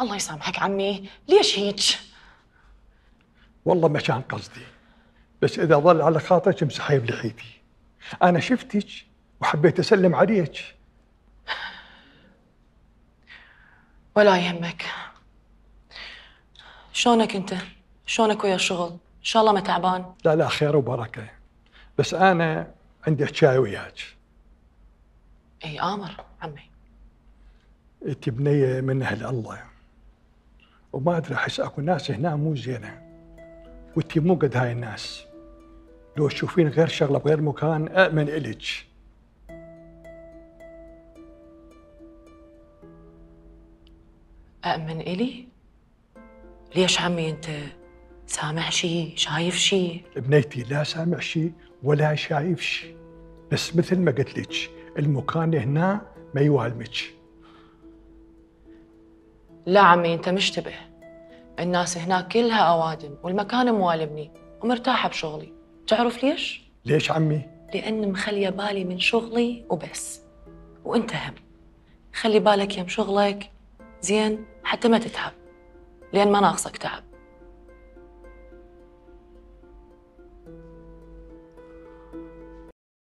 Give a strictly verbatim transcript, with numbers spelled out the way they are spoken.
الله يسامحك عمي، ليش هيك؟ والله ما كان قصدي، بس إذا ظل على خاطرك امسحي بلحيتي. أنا شفتك وحبيت أسلم عليك. ولا يهمك. شلونك أنت؟ شلونك ويا الشغل؟ إن شاء الله ما تعبان؟ لا لا، خير وبركة، بس أنا عندي حكاية وياك. إي آمر عمي. أنت بنية من أهل الله، وما أدري أحس أكو ناس هنا مو زينة، وأنت مو قد هاي الناس. لو تشوفين غير شغلة بغير مكان أأمن إلك. أأمن إلي؟ ليش عمي أنت سامع شي؟ شايف شي؟ بنيتي لا سامع شي ولا شايف شي، بس مثل ما قلت لك المكان هنا ما يوالمك. لا عمي أنت مشتبه، الناس هناك كلها أوادم والمكان موالمني ومرتاحة بشغلي. تعرف ليش؟ ليش عمي؟ لأن مخلية بالي من شغلي وبس، وأنت هم خلي بالك يم شغلك زين حتى ما تتعب، لأن ما ناقصك تعب.